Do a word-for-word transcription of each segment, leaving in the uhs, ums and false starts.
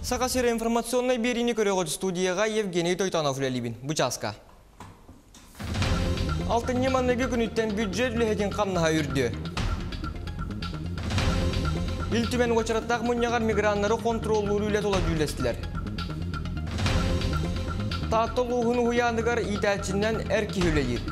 Саха сирэ информационнай биэриини көрөҕүт, студияҕа Евгений Тойтонов үлэлиибин. Бу чааска. Алтынньы маҥнайгы күнүттэн бюджет үлэһитин хамнаһа үрдүө. Ил Түмэн уочараттаах мунньаҕар миграннары хонтуруоллуур үлэ тула дьүүллэстилэр. Таатта улууһун уһуйааныгар иитээччинэн эр киһи үлэлиир.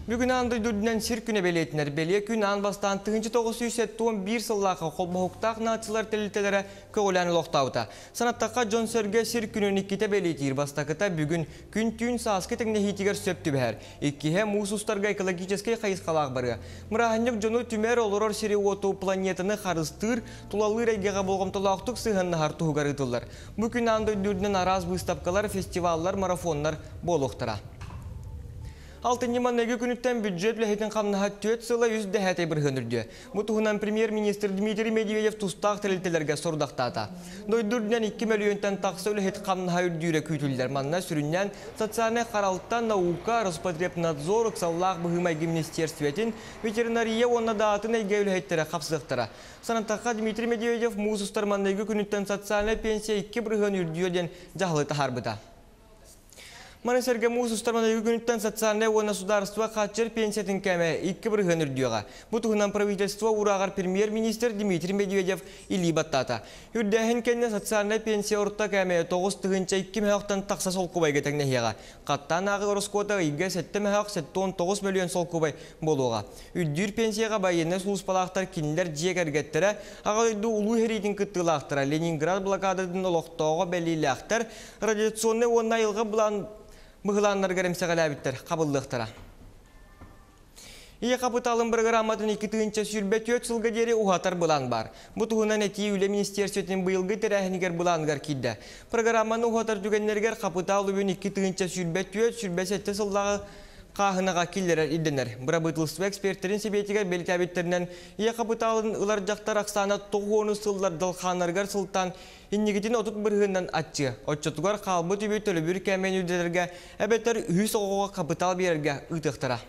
Бүгүн аан дойду үрдүнэн сир күнэ бэлиэтэнэр. Бэлиэ күн аан бастаан тыһыынча тоҕус сүүс сэттэ уон биир сыллаахха холбоһуктаах нациялар тэрилтэлэрэ көҕүлээн олохтообута. Санаттахха, дьон-сэргэ сир күнүн иккитэ бэлиэтиир. Бастакыта бүгүн күн-түүн сааскы тэҥнэһиитигэр сөп түбэһэр. Иккиһэ муус устарга экологическай хайысхалаах барыа. Бырааһынньык дьону түмэр, олорор сири-уоту, планетаны харыстыыр, тулалыыр эйгэҕэ болҕомтолоохтук сыһыаннаһар туһугар ыытыллар. Бу күн аан дойду үрдүнэн араас быыстапкалар, фестиваллар, марафоннар буолуохтара. Алтынньы маҥнайгы күнүттэн бюджет үлэһитин хамнаһа түөрт сыла үс дэһээтэй бырыһыан үрдүө. Бу туһунан премьер-министр Дмитрий Медведев тустаах тэрилтэлэргэ сорудахтаата. Дойду үрдүнэн икки мөлүйүөнтэн тахса үлэһит хамнаһа үрдүүрэ күүтүллэр. Манна сүрүннээн социальнай харалта, наука, Роспотребнадзор, ыксаллаах быһыы-майгы министерствотын, ветеринария уонна да атын эйгэ үлэһиттэрэ хапсыахтара. Санаттахха, Дмитрий Медведев муус устар маҥнайгы күнүттэн социальнай пенсия икки бырыһыан үрдүө диэн дьаһалы таһаарбыта. Маны сэргэ муус устар маҥнайгы күнүттэн социальнай уонна судаарыстыба хааччыйар пенсиятын кээмэйэ икки бырыһыан үрдүөҕэ. Бу туһунан правительство уурааҕар премьер-министр Дмитрий Медведев илии баттаата. Үрдээһин кэннэ социальнай пенсия орто кээмэйэ тоҕус тыһыынча икки мөһөөхтөн тахса солкуобайга тэҥнэһиэҕэ. Хаттаан ааҕыы ороскуота ыйга сэттэ мөһөөх сэттэ уон тоҕус мөлүйүөн солкуобай буолуоҕа. Үрдүүр пенсияҕа байыаннай сулууспалаахтар, кинилэр дьиэ кэргэттэрэ, Аҕа дойду Улуу сэриитин кыттыылаахтара, Ленинград блокадатын олохтооҕо бэлиэлээхтэр, радиационнай уонна айылҕа былаан быһылааннарыгар эмсэҕэлээбиттэр хабыллыахтара. Ийэ хапытаалын бырагырааматын икки тыһыынча сүүрбэ түөрт сылга диэри уһатар былаан баар. Бу туһунан этии Үлэ министиэристибэтин быйылгы тэрээһинигэр былааныгар киирдэ. Программаны уһатар түгэннэригэр хапытаал үбүн икки тыһыынча сүүрбэ түөрт сүүрбэ сэттэ сыллааҕы хааһынаҕа киллэрэр ирдэнэр. Бырабыыталыстыба экспертэрин сэбиэтигэр бэлиэтээбиттэринэн, ийэ хапытаалын ылар дьахтар ахсаана тоҕус уон сыллар далхааннарыгар сылтаан инникитин отут бырыһыанынан аччыа. Оччотугар хаалбыт үбү төлөбүр кээмэйин үрдэтэргэ эбэтэр үһүс оҕоҕо хапытаал биэрэргэ ыытыахтара.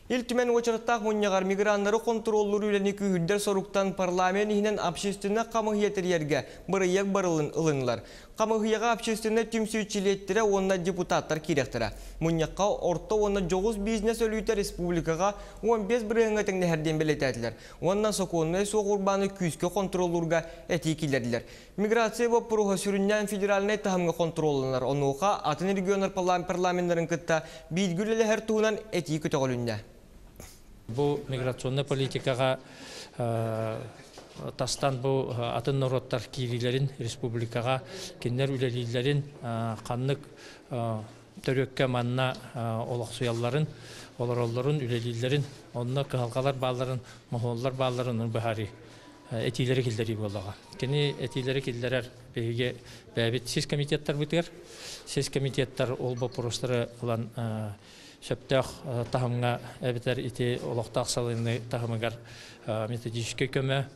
Ил Түмэн уочараттаах мунньаҕар миграннары хонтуруоллуур үлэни күүһүрдэр соруктан парламент иһинэн общественнай хамыыһыйа тэрийэргэ бырайыак барылын ылыннылар. Хамыыһыйаҕа общественнай түмсүү чилиэттэрэ уонна депутаттар киириэхтэрэ. Мунньахха орто уонна дьоҕус бизнес өлүүтэ республикаҕа уон биэс бырыһыаҥҥа тэҥнэһэр диэн бэлиэтээтилэр. Уонна сокуоннай суох урбааны күүскэ хонтуруоллуурга этии киллэрдилэр. Миграция боппуруоһа сүрүннээн федеральнай таһымҥа хонтуруолланар. Онуоха атын регионнар парламеннарын кытта бииргэ үлэлэһэр туһунан этии көтөҕүлүннэ. Бу миграционнай политикаҕа тастан бу атын норуоттар киириилэрин республикаҕа кинилэр үлэлииллэрин ханнык төрүөккэ манна олохсуйалларын, олороллорун, үлэлииллэрин, онно кыһалҕалар баалларын, моһуоллар баалларын быһаарыы этиилэри киллэрии буоллаҕа. Кини этиилэри киллэрэр биһиги бэйэбит сис комитеттарбытыгар, сис комитеттар ол боппуруостары ылан сөптөөх таһымҥа эбэтэр ити олохтоох салайыныы таһымыгар методическай көмө,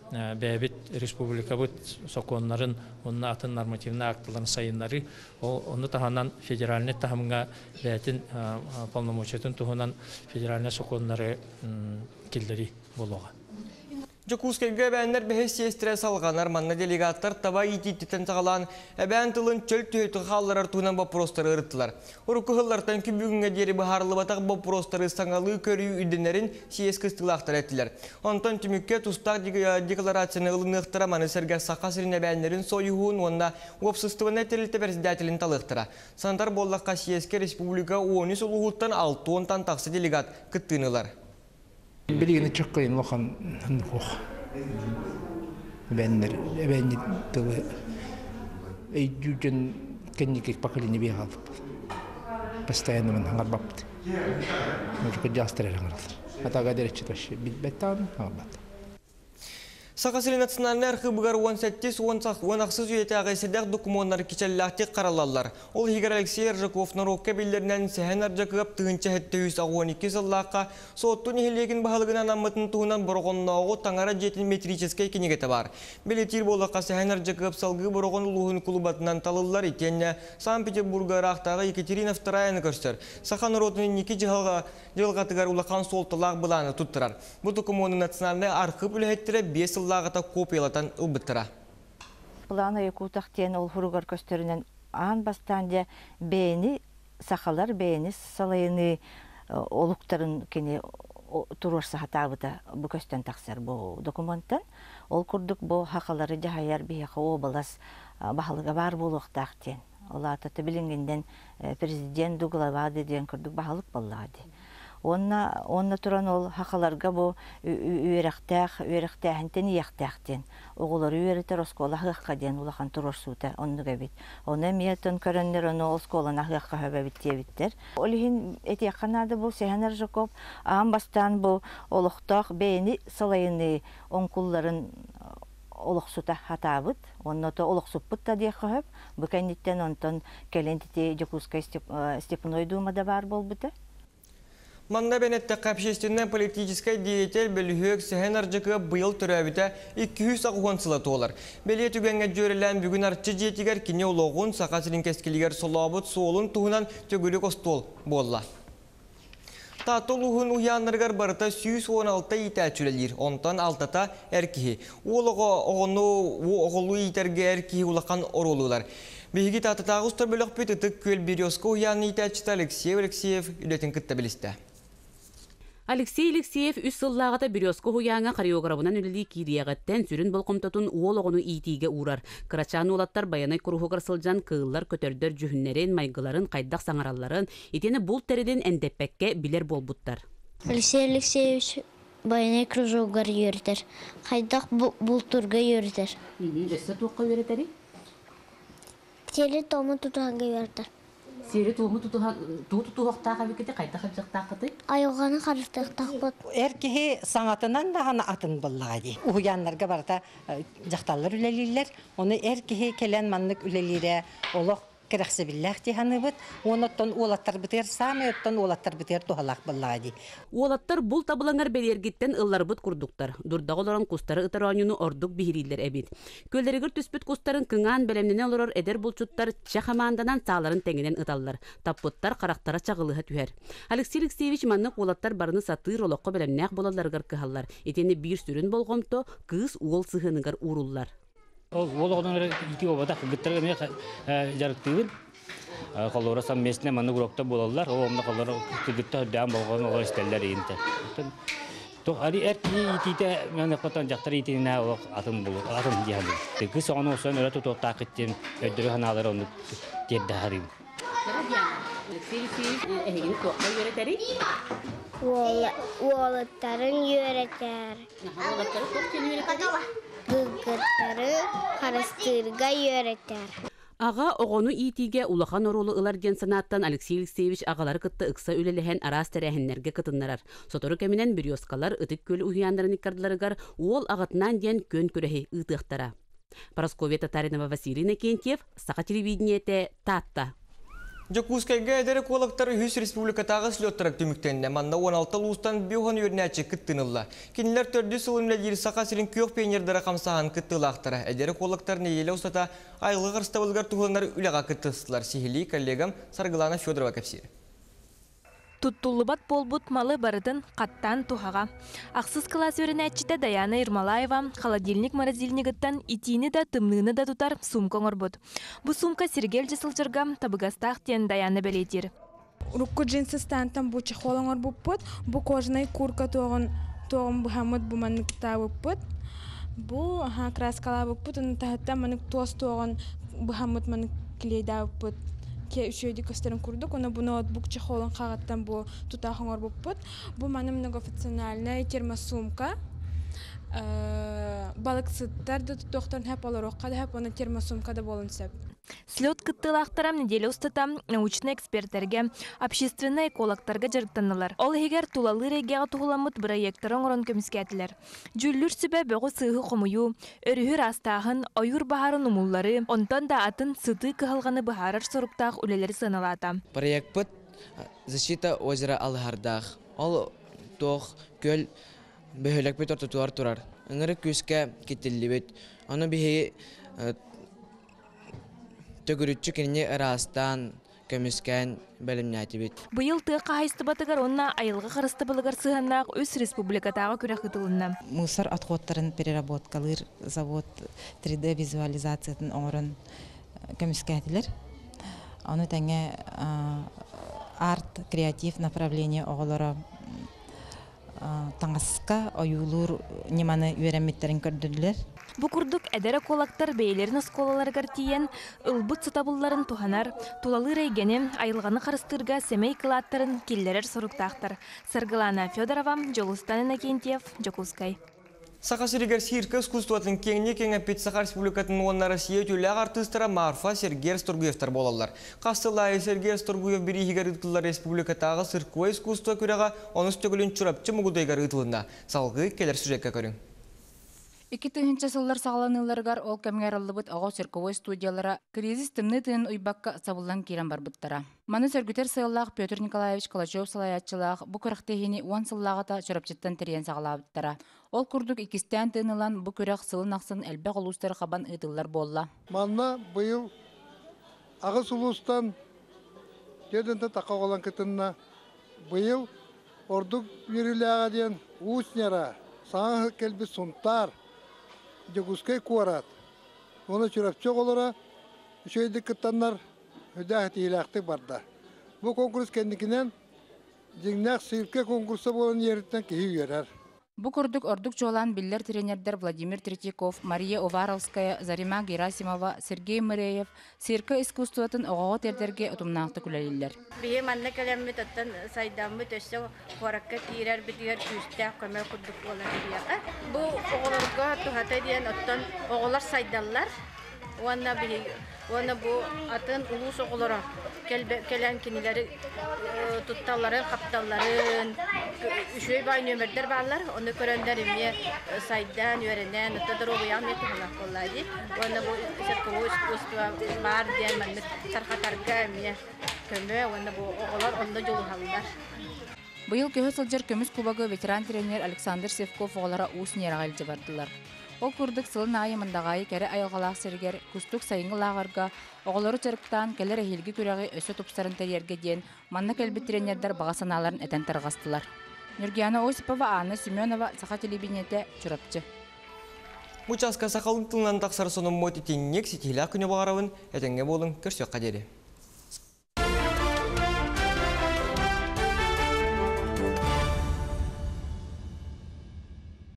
бэйэбит республикабыт сокуоннарын уонна атын нормативнай акталарын сайыннарыы, ол ону таһынан федеральнай таһымҥа бэйэтин полномочиятын туһунан федеральнай сокуоннары киллэрии буолуоҕа. Дьокуускайга эбээннэр бэһис сиэстэрэ салҕанар, манна делегаттар таба иитииттэн саҕалаан эбээн тылын чөл түһүтү хаалларар туһунан боппуруостары ырыттылар. Урукку сыллартан күн бүгүҥҥэ диэри быһаарыллыбатах боппуруостары саҥалыы көрүү үрдэнэрин съезд кыттыылаахтара эттилэр. Онтон түмүккэ тустаах декларацияны ылыныахтара, маны сэргэ Саха сирин эбээннэрин сойуһун уонна уопсастыбаннай тэрилтэ председателин талыахтара. Санатар буоллахха, съезкэ республика уон үс улууһуттан алта уонтан тахса делегат кыттыыны ылар. Билигин чөккөйүн улахан хуох. Эбээннэр, эбээнни тылы өйдүүрдэн кэнники поколение биэҕалбыт. Постоянно мын хаҥарбаппыт. Может, жастар эрэ хаҥараллар. Атага дэреччи вообще билбэт даҕаны хаҥарбат. Саха сирин национальнай архыыбыгар уон сэттис уон ахсыс үйэтээҕи сэдэх докумуоннар кичэллээхтик хараллаллар. Ол иһигэр Алексей Аржаков норуокка биллэринэн Сэһэн Ардьакыап тыһыынча сэттэ сүүс аҕыс уон икки сыллаахха Суотту нэһилиэгин баһылыгынан анаммытын туһунан Бороҕоннооҕу таҥара дьиэтин метрическэй кинигэтэ баар. Бэлиэтиир буоллахха, Сэһэн Ардьакыап салгыы Бороҕон улууһун кулубатынан талыллар итиэннэ Санкт-Петербурга ыраахтааҕы Екатерина Втораяны көрсөр. Саха норуотун инники дьылҕатыгар улахан суолталаах былааны туттарар. Бу докумуону национальнай архыып үлэһиттэрэ биэс сыллааҕыта копиялатан ылбыттара. Плана Якутах диэн ол хуругар көстөрүнэн аан бастаан дьэ бэйэни сахалар бэйэни салайыны олуктарын кини туруорса сатаабыта бу көстөн тахсар бу документан. Ол курдук бу хахалары дьаһайар биһиэхэ уобалас баһылыга баар буолуохтаах диэн. Ол аата билиҥҥинэн президент ду глава диэн курдук баһылык буоллаҕа дии. Онно, онно туран ол хахаларга бу үөрэхтээх, үөрэхтээһинтэн иэхтээх диэн. Оҕолору үөрэтэр оскуола аһыахха диэн улахан туруорсуута оннук эбит. Ону эмиэ тон көрөннөр ону оскуоланы аһыахха сөбөбүт диэбиттэр. Ол иһин этиэххэ наада бу Сэһэн Аржаков аан бастаан бу олохтоох бэйэни салайыны оҥкулларын олохсута хатаабыт. Онно то олохсуппут да диэххэ сөп. Бу кэнниттэн онтон кэлин тити Дьокуускай Степной Думада баар буолбута. Манна бэнэттэххэ общественнай политическай деятель бөлүһүөк Сэһэн Ардьакыап быйыл төрөөбүтэ икки сүүс аҕыс уон сыла туолар. Бэлиэ түгэҥҥэ дьүөрэлээн бүгүн Арчы дьиэтигэр кини олоҕун Саха сирин кэскилигэр солообут суолун туһунан төгүрүк остуол буолла. Таатта улууһун уһуйааннарыгар барыта сүүс уон алта иитээччи үлэлиир, онтон алтата эр киһи. Уол оҕо оҕону оҕолуу иитэргэ эр киһи улахан оруолу ылар. Биһиги Тааттатааҕы устар бөлөхпүт Ытык Күөл Березка уһуйаанын иитээччитэ Алексей Алексеев үлэтин кытта билистэ. Алексей Алексеев үс сыллааҕыта Березка уһуйааҥҥа хореограбынан үлэлии киириэҕиттэн сүрүн болҕомтотун уол оҕону иитиигэ уурар. Кырачаан уолаттар байанай куруһугар сылдьан кыыллар, көтөрдөр дьүһүннэрин, майгыларын, хайдах саҥаралларын, итиэннэ булт тэрилин эндэппэккэ билэр буолбуттар. Алексей Алексеевич байанай кружогар үөрэтэр, хайдах бултуурга үөрэтэр. Өссө туохха үөрэтэрий? Сиэри туому тутуһарга үөрэтэр. Сиэри туому тутуһуохтаах эбиккити, хайдах ылдьахтааххытый? Айылҕаны харыстыахтаахпыт. Эр киһи саҥатынан даҕаны атын буоллаҕа дии. Уһуйааннарга барыта дьахталлар үлэлииллэр. Ону эр киһи кэлэн маннык үлэлиирэ олох кэрэхсэбиллээх дии саныыбыт. Уонуттан уолаттарбытыгар саамай оттон уолаттарбытыгар туһалаах буоллаҕа дии. Уолаттар бул табылаҥар бэлиэргиттэн ылларбыт курдуктар. Дурдаҕа олорон кустары ытар оонньууну ордук биһирииллэр эбит. Көллэригэр түспүт кустарын кыҥаан бэлэмнэнэ олорор эдэр булчуттар чэ хамаанданан сааларын тэҥинэн ыталлар. Таппыттар харахтара чаҕылыһа түһэр. Алексей Алексеевич маннык уолаттар барыны сатыыр олоххо бэлэмнээх буолалларыгар кыһаллар. Итини биир сүрүн болҕомто кыыс уол сыһыаныгар ууруллар. Ол оҕонор ити обатах гыттарга эмиэ дьарыктыыбын. Холлора совместно маннык уроктар буолаллар. Ол онно холлора кыргыттар үрдээн болҕон оҕо истэллэр иинтэ. Туох ари эр киһи иитиитэ маны хотон дьахтар иитинэ олох атын булу атын диэхэ. Кыс оҕону осон өрө тутуохтаах киттин өйдөрү ханаалар оннук тиэрдэ харыым. Алексей Алексеевич эһигини туохха үөрэтэрий? Уолаттарын үөрэтэр. Уолаттары туох диэн үөрэтэрий? Кыргыттары харыстыырга үөрэтэр. Аҕа оҕону иитиигэ улахан оруолу ылар диэн санааттан Алексей Алексеевич аҕалары кытта ыкса үлэлэһэн араас тэрээһиннэргэ кытыннарар. Сотору кэминэн Березкалар Ытык Күөл уһуйааннарын иккардыларыгар уол аҕатынаан диэн күөн күрэһи ыытыахтара. Парасковья Татаринова, Василий Иннокентьев, Саха телевидениетэ, Таатта. Дьокуускайга эдэр экологтар үһүс республикатааҕы слеттара түмүктэннэ. Манна уон алта улуустан биэс уон үөрэнээччи кыттыынылла. Кинилэр төрдүс сылын үлэлиир Саха сирин күөх пионердара хамсааһын кыттыылаахтара. Эдэр экологтар нэдиэлэ устата айылҕа харыстабылыгар туһуланар үлэҕэ кыттыстылар. Сиһилии коллегам Саргылана Федорова кэпсиир. Туттуллубат буолбут малы барытын хаттаан туһаҕа. Ахсыс кылаас үөрэнээччитэ Даяна Ермолаева холодильник морозильнигыттан итиини да тымныыны да тутар сумка оҥорбут. Бу сумка сиргэ илдьэ сылдьарга табыгастаах диэн Даяна бэлиэтиир. Урукку джинсы стантан бу чехол оҥорбуппут, бу кожаный куртка туоҕун туоҕун быһаммыт бу манныктаабыппыт. Бу аха краскалаабыппыт, оны таһыттан маннык туос туоҕун быһаммыт маннык клейдаабыппыт. Ке үчүөйдүк көстөрүн курдук, оны бу ноутбук чехолун хаҕыттан бу тутаах оҥорбуппут. Бу маны многофункциональная термосумка. Балыксыттар да туттуохтарын сөп, олоруохха да сөп, оны термосумка да буолун сөп. Слет кыттыылаахтара нэдиэлэ устата научнай экспертэргэ, общественнай экологтарга дьарыктаннылар. Ол иһигэр тулалыыр эйгэҕэ туһуламмыт бырайыактары оҥорон көмүскээтилэр. Дьүүллүүр сүбэ бөҕү-сыыһы хомуйуу, өрүһү ыраастааһын, ойуур баһаарын умулларыы, онтон да атын сытыы кыһалҕаны быһаарар соруктаах үлэлэри сыаналаата. Проекпыт «Защита озера Алыһардаах». Ол туох күөл бөһүөлэкпит ортотугар турар. Ыҥырык күүскэ киттиллибит. Ону биһиги төгүрүччү кинини ыраастаан, көмүскээн бэлэмнээтибит. Быйыл тыа хаһаайыстыбатыгар уонна айылҕа харыстабылыгар сыһыаннаах үс республикатааҕы күрэх ыытылынна. Мусор отходтарын переработкалыыр завод три D визуализациятын оҥорон көмүскээтилэр. Ону тэҥэ арт креатив направление оҕолоро таҥаска ойуулуур ньыманы үөрэммиттэрин көрдөрдүлэр. Бу курдук эдэр экологтар бэйэлэрин оскуолаларыгар тиийэн ылбыт сатабылларын туһанар, тулалыыр эйгэни, айылҕаны харыстыырга сэмэй кылааттарын киллэрэр соруктаахтар. Саргылана Федорова, Дьулустан Иннокентьев, Дьокуускай. Саха сиригэр циркэ искусствотын киэҥник кэҥэппит Саха Республикатын уонна Россия үтүөлээх артыыстара Марфа, Сергей Расторгуевтар буолаллар. Хас сыл аайы Сергей Расторгуев бирииһигэр ыытыллар республикатааҕы цирковай искусство күрэҕэ онус төгүлүн Чурапчы Мугудайыгар ыытылынна. Салгыы кэлэр сюжекка көрүҥ. Икки тыһыынча сыллар саҕаланыыларыгар ол кэмҥэ арыллыбыт оҕо цирковой студиялара кризис тымныы тыынын уйбакка сабыллан киирэн барбыттара. Маны сөргүтэр сыаллаах Петр Николаевич Калачев салайааччылаах бу күрэхтэһиини уон сыллааҕыта Чурапчыттан тэрийэн саҕалаабыттара. Ол курдук иккистээн тыын ылан бу күрэх сылын ахсын элбэх улуустары хабан ыытыллар буолла. Манна быйыл аҕыс улуустан түөрт тахха оҕолон кытынна. Быйыл ордук үөрүүлээҕэ диэн Уус Ньара, саҥа кэлбит Сунтаар, Дьокуускай куорат, уонна Чурапчы оҕолоро үчүгэйдик кыттаннар үдээх тиһилээхтик барда. Бу конкурс кэнникинэн дьиҥнээх циркэ конкурса буолан иһэриттэн киһи үөрэр. Бу курдук ордук чуолаан биллэр тренердэр Владимир Третьяков, Мария Уваровская, Зарима Герасимова, Сергей Мыреев циркэ искусствотын оҕоҕо тиэрдэргэ утумнаахтык үлэлииллэр. Биһи манна кэлэммит оттон сайдаммыт өссө куоракка киирэр битигэр күүстээх көмө курдук буолар биһиэхэ. Бу оҕолорго туһата диэн оттон оҕолор сайдаллар. Уонна биһи уонна бу атын улуус оҕолоро кэлэн кинилэри тутталларын, хапталларын, үчүгэй баай нүөмэрдэр бааллар. Ону көрөннөр эмиэ сайдан, үөрэнэн, оттон доруобуйаҕа эмиэ туһалаах буолла дии. Уонна бу цирковой искусство баар диэн маннык тарҕатарга эмиэ көмө уонна бу оҕолор онно дьулуһаллар. Быйыл көһө сылдьар көмүс кубогы ветеран тренер Александр Севков оҕолоро Уус Ньараҕа илдьэ бардылар. Ол курдук сылын аайы Мындаҕаайы кэрэ айылҕалаах сиригэр кустук сайыҥҥы лааҕырга оҕолору дьарыктаан кэлэр эһиилги күрэҕи өссө тупсарын тэрийэргэ диэн манна кэлбит тренердэр баҕа санааларын этэн тарҕастылар. Нюргиана Осипова, Анна Семенова, Саха телевидениетэ, Чурапчы. Бу чааска сахалыы тылынан тахсар сонуммут итинник ситиһиилээх күнү баҕарабын, этэҥҥэ буолуҥ, көрсүөххэ диэри.